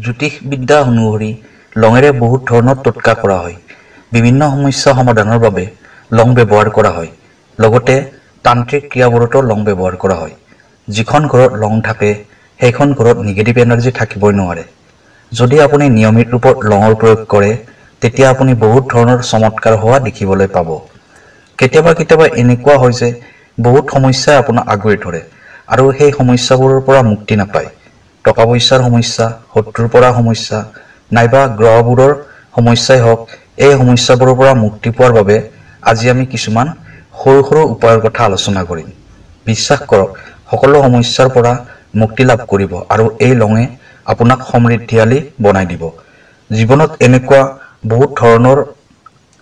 জ্যোতিষ বিদ্যা অনুসৰি লঙেৰে বহুত ধৰণৰ টোটকা কৰা হয়। বিভিন্ন সমস্যা সমাধানৰ বাবে লং ব্যৱহাৰ কৰা হয়। লগতে তান্ত্ৰিক ক্ৰিয়াবোৰতো লং ব্যৱহাৰ কৰা হয়। যিখন ঘৰত লং থাকে সেইখন ঘৰত নিগেটিভ এনাৰ্জি থাকিবই নোৱাৰে। যদি আপুনি নিয়মিত ৰূপত লঙৰ প্ৰয়োগ কৰে তেতিয়া আপুনি বহুত ধৰণৰ চমৎকাৰ হোৱা দেখিবলৈ পাব। কেতিয়াবা কেতিয়াবা এনেকুৱা হয় যে বহুত সমস্যাই আপোনাক আগুৰি ধৰে আৰু সেই সমস্যাবোৰৰ পৰা মুক্তি নাপায়। টকা পইচাৰ সমস্যা, শত্ৰুৰ পৰা সমস্যা নাইবা গ্ৰহবোৰৰ সমস্যাই হওক, এই সমস্যাবোৰৰ পৰা মুক্তি পোৱাৰ বাবে আজি আমি কিছুমান সৰু সৰু উপায়ৰ কথা আলোচনা কৰিম। বিশ্বাস কৰক, সকলো সমস্যাৰ পৰা মুক্তি লাভ কৰিব আৰু এই লঙে আপোনাক সমৃদ্ধিশালী বনাই দিব। জীৱনত এনেকুৱা বহুত ধৰণৰ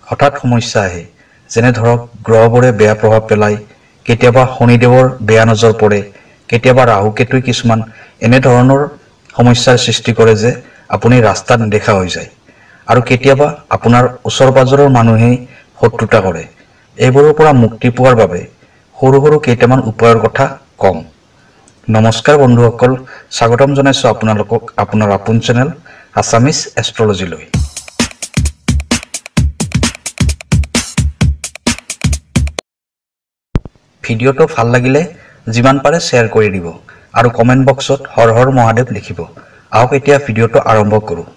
হঠাৎ সমস্যা আহে, যেনে ধৰক গ্ৰহবোৰে বেয়া প্ৰভাৱ পেলায়, কেতিয়াবা শনিদেৱৰ বেয়া নজৰ পৰে, কেতিয়াবা ৰাহুকেতুই কিছুমান এনেধৰণৰ সমস্যাৰ সৃষ্টি কৰে যে আপুনি ৰাস্তাত নেদেখা হৈ যায়, আৰু কেতিয়াবা আপোনাৰ ওচৰ পাজৰৰ মানুহেই শত্ৰুতা কৰে। এইবোৰৰ পৰা মুক্তি পোৱাৰ বাবে সৰু সৰু কেইটামান উপায়ৰ কথা কম। নমস্কাৰ বন্ধুসকল, স্বাগতম জনাইছোঁ আপোনালোকক আপোনাৰ আপোন চেনেল আছামিজ এষ্ট্ৰলজিলৈ। ভিডিঅ'টো ভাল লাগিলে যিমান পাৰে শ্বেয়াৰ কৰি দিব আৰু কমেণ্ট বক্সত হৰ হৰ মহাদেৱ লিখিব। আহক এতিয়া ভিডিঅ'টো আৰম্ভ কৰোঁ।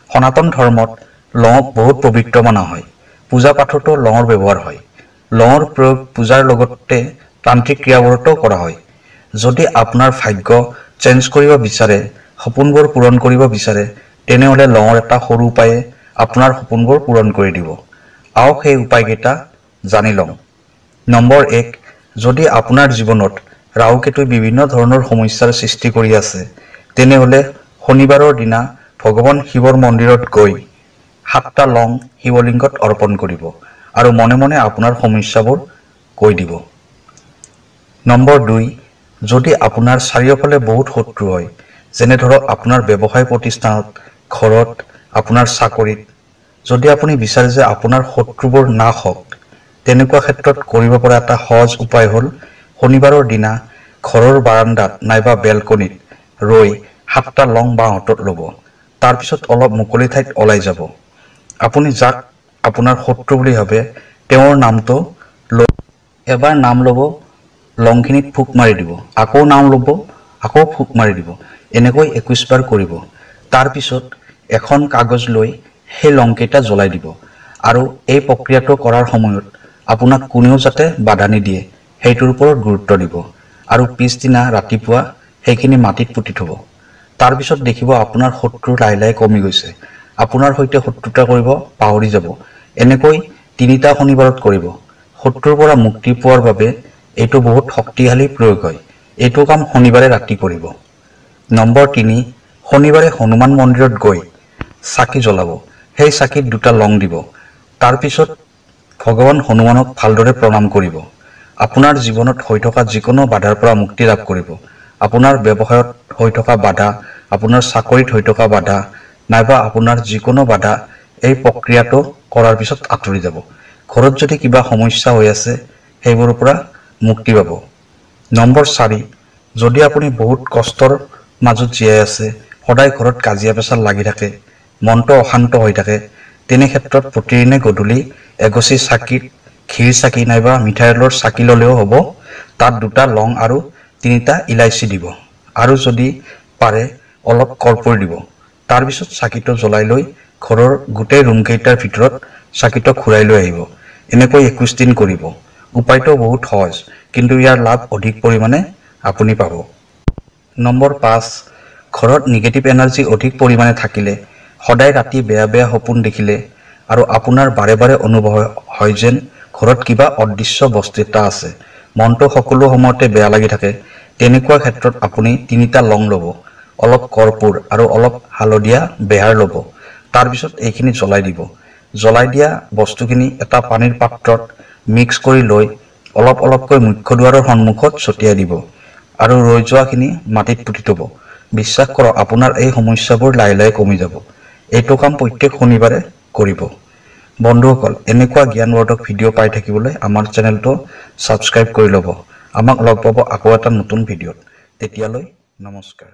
সনাতন ধৰ্মত লঙক বহুত পবিত্ৰ মনা হয়। পূজা পাঠতো লঙৰ ব্যৱহাৰ হয়। লঙৰ প্ৰয়োগ পূজাৰ লগতে তান্ত্ৰিক ক্ৰিয়াবোৰতো কৰা হয়। যদি আপোনাৰ ভাগ্য চেঞ্জ কৰিব বিচাৰে, সপোনবোৰ পূৰণ কৰিব বিচাৰে, তেনেহ'লে লঙৰ এটা সৰু উপায়ে আপোনাৰ সপোনবোৰ পূৰণ কৰি দিব। আহক সেই উপায়কেইটা জানি লওঁ। নম্বৰ 1, যদি আপোনাৰ জীৱনত ৰাহুকেতুই বিভিন্ন ধৰণৰ সমস্যাৰ সৃষ্টি কৰি আছে, তেনেহ'লে শনিবাৰৰ দিনা ভগৱান শিৱৰ মন্দিৰত গৈ 7টা লং শিৱলিংগত অৰ্পণ কৰিব আৰু মনে মনে আপোনাৰ সমস্যাবোৰ কৈ দিব। নম্বৰ 2, যদি আপোনাৰ চাৰিওফালে বহুত শত্ৰু হয়, যেনে ধৰক আপোনাৰ ব্যৱসায় প্ৰতিষ্ঠানত, ঘৰত, আপোনাৰ চাকৰিত, যদি আপুনি বিচাৰে যে আপোনাৰ শত্ৰুবোৰ নাশ হওক, তেনেকুৱা ক্ষেত্ৰত কৰিব পৰা এটা সহজ উপায় হ'ল শনিবাৰৰ দিনা ঘৰৰ বাৰাণ্ডাত নাইবা বেলকনিত ৰৈ 7টা লং বাঁহতত ল'ব। তাৰপিছত অলপ মুকলি ঠাইত ওলাই যাব। আপুনি যাক আপোনাৰ শত্ৰু বুলি ভাবে তেওঁৰ নামটো লৈ এবাৰ নাম ল'ব, লংখিনিত ফুক মাৰি দিব, আকৌ নাম ল'ব, আকৌ ফুক মাৰি দিব, এনেকৈ 21 বাৰ কৰিব। তাৰপিছত এখন কাগজ লৈ সেই লংকেইটা জ্বলাই দিব আৰু এই প্ৰক্ৰিয়াটো কৰাৰ সময়ত আপোনাক কোনেও যাতে বাধা নিদিয়ে সেইটোৰ ওপৰত গুৰুত্ব দিব আৰু পিছদিনা ৰাতিপুৱা সেইখিনি মাটিত পুতি থ'ব। তাৰপিছত দেখিব আপোনাৰ শত্ৰু লাহে লাহে কমি গৈছে, আপোনাৰ সৈতে শত্ৰুতা কৰিব পাহৰি যাব। এনেকৈ 3টা শনিবাৰত কৰিব। শত্ৰুৰ পৰা মুক্তি পোৱাৰ বাবে এইটো বহুত শক্তিশালী প্ৰয়োগ হয়। এইটো কাম শনিবাৰে ৰাতি কৰিব। নম্বৰ 3, শনিবাৰে হনুমান মন্দিৰত গৈ চাকি জ্বলাব। সেই চাকিত 2টা লং দিব। তাৰপিছত ভগৱান হনুমানক ভালদৰে প্ৰণাম কৰিব। আপোনাৰ জীৱনত হৈ থকা যিকোনো বাধাৰ পৰা মুক্তি লাভ কৰিব। আপোনাৰ ব্যৱসায়ত হৈ থকা বাধা, আপোনাৰ চাকৰিত হৈ থকা বাধা নাইবা আপোনাৰ যিকোনো বাধা এই প্ৰক্ৰিয়াটো কৰাৰ পিছত আঁতৰি যাব। ঘৰত যদি কিবা সমস্যা হৈ আছে সেইবোৰৰ পৰা মুক্তি পাব। নম্বৰ 4, যদি আপুনি বহুত কষ্টৰ মাজত জীয়াই আছে, সদায় ঘৰত কাজিয়া পেচাল লাগি থাকে, মনটো অশান্ত হৈ থাকে, তেনে ক্ষেত্ৰত প্ৰতিদিনে গধূলি এগছি চাকিত ঘিৰ চাকি নাইবা মিঠাইলৰ চাকি ল'লেও হ'ব। তাত 2টা লং আৰু 3টা ইলাচি দিব আৰু যদি পাৰে অলপ কৰ্পূৰ দিব। তাৰপিছত চাকিটো জ্বলাই লৈ ঘৰৰ গোটেই ৰুমকেইটাৰ ভিতৰত চাকিটো ঘূৰাই লৈ আহিব। এনেকৈ 21 দিন কৰিব। উপায়টো বহুত সহজ, কিন্তু ইয়াৰ লাভ অধিক পৰিমাণে আপুনি পাব। নম্বৰ 5, ঘৰত নিগেটিভ এনাৰ্জি অধিক পৰিমাণে থাকিলে, সদায় ৰাতি বেয়া বেয়া সপোন দেখিলে আৰু আপোনাৰ বাৰে বাৰে অনুভৱ হয় যেন ঘৰত কিবা অদৃশ্য বস্তু এটা আছে, মনটো সকলো সময়তে বেয়া লাগি থাকে, তেনেকুৱা ক্ষেত্ৰত আপুনি 3টা লং ল'ব, অলপ কৰ্পূৰ আৰু অলপ হালধীয়া বেহাৰ ল'ব। তাৰপিছত এইখিনি জ্বলাই দিব। জ্বলাই দিয়া বস্তুখিনি এটা পানীৰ পাত্ৰত মিক্স কৰি লৈ অলপ অলপকৈ মুখ্য দুৱাৰৰ সন্মুখত ছটিয়াই দিব আৰু ৰৈ যোৱাখিনি মাটিত পুতি থ'ব। বিশ্বাস কৰক, আপোনাৰ এই সমস্যাবোৰ লাহে লাহে কমি যাব। এইটো কাম প্ৰত্যেক শনিবাৰে কৰিব। বন্ধুসকল, এনেকুৱা জ্ঞানবৰ্ধক ভিডিঅ' পাই থাকিবলৈ আমাৰ চেনেলটো ছাবস্ক্ৰাইব কৰি ল'ব। আমাক লগ পাব আকৌ এটা নতুন ভিডিঅ'ত। তেতিয়ালৈ নমস্কাৰ।